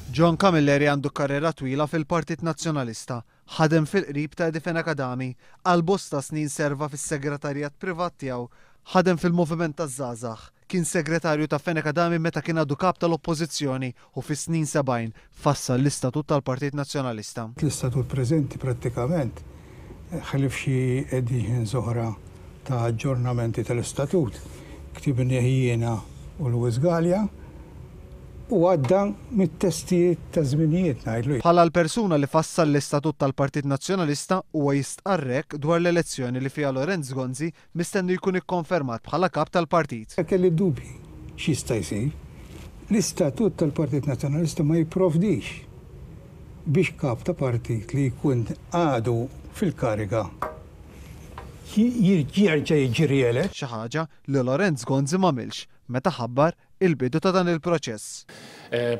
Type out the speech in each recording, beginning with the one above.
John Camilleri għandu karriera twila fil-Partit Nazzjonalista. Ħadem fil-qrib ta' Eddie Fenech Adami. Għal bosta snin serva fis-segretarjat privat tiegħu. Ħadem fil-Moviment taż-Żgħażagħ. Kien segretarju ta' Fenech Adami meta kien għadu kap tal-Oppożizzjoni u fis-snin 70 fassal l-istatut tal-Partit Nazzjonalista. L-istatut preżenti prattikament, ħlief xi editions oħra ta' aġġornamenti tal-istatut, ktibnieh jiena u Louis Galea u għadda mit-testijiet ta' żminijiet ngħidlu. Bħala l-persuna li fassal l-istatut tal-Partit Nazzjonalista huwa jistqarr hekk dwar l-elezzjoni li fiha Lorenz Gonzi mistenni jkun ikkonfermat bħala kap tal-partit. Kelli dubji x'jista' jsir. L-istatut tal-Partit Nazzjonalista ma jipprovdix biex kap ta' partit li jkun għadu fil-kariga jerġa' jiġi rielett. Xi ħaġa li Lorenz Gonzi m'għamilx meta ħabbar il-bidu ta' dan il-proċess.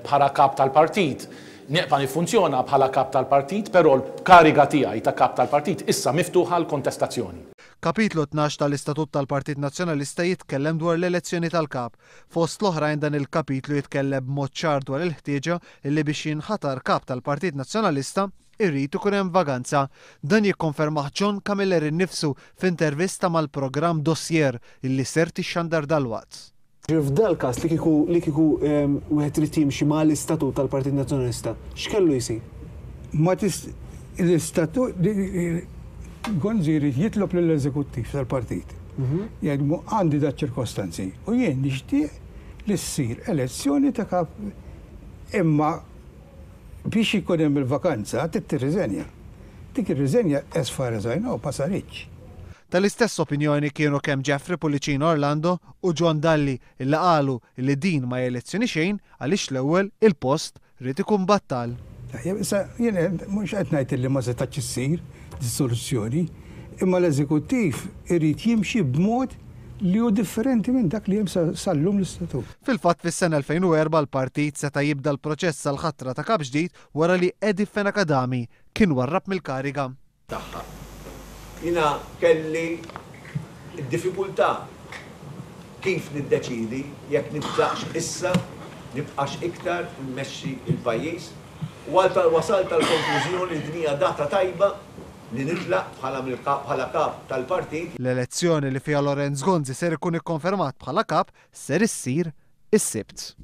Bħala kap tal-partit, neqpa' niffunzjona bħala kap tal-partit, però l-kariga tiegħi ta' kap tal-partit issa miftuħa għall-kontestazzjoni. Kapitlu 12 tal-Istatut tal-Partit Nazzjonalista jitkellem dwar l-elezzjoni tal-Kap. Fost l-oħrajn dan il-kapitlu jitkellem b'mod ċar dwar il-ħtieġa li biex jinħatar Kap tal-Partit Nazzjonalista irid ikun hemm vaganza. Dan jikkonfermah John Camilleri nnifsu f'intervista mal-programm Dossier illi ser tixxandar dalwaqt. F'dal-każ li kieku li kieku wieħed irid jimxi ma' l-istatut tal-Partit Nazzjonalista, x'kellu jsir? Ma tist l-istatut Gonzi jrid jitlob lill-eżekuttiv tal-partit. Jgħidlu għandi daċ-ċirkostanzi u jien nixtieq li ssir elezzjoni ta' kap imma biex ikun hemm il-vakanza trid tirriżenja. Dik ir-riżenja as far as I know ma saritx. Tal-istess opinjoni kienu kemm Jeffrey Pullicino Orlando u John Dalli illi qalu illi din ma hi elezzjoni xejn għaliex l-ewwel il-post ried ikun battal. Tajjeb, issa jien mhux qed ngħid illi ma setgħetx issir dis-soluzzjoni, imma l-eżekuttiv irid jimxi b'mod li hu differenti minn dak li hemm sal-lum l-istatut. Fil-fatt fis-sena 2004 l-partit seta' jibda l-proċess għall-ħatra ta' kap ġdid wara li Eddie Fenech Adami kien warrab mill-kariga. Tagħha. Jiena kelli d-diffikultà kif niddeċiedi jekk nitlaqx issa, nibqax iktar immexxi l-pajjiż u għal wasalt għall-konklużjoni li din hija data tajba li nitlaq bħala bħala kap tal-partit. L-elezzjoni li fiha Lorenz Gonzi ser ikun ikkonfermat bħala kap ser issir is-Sibt.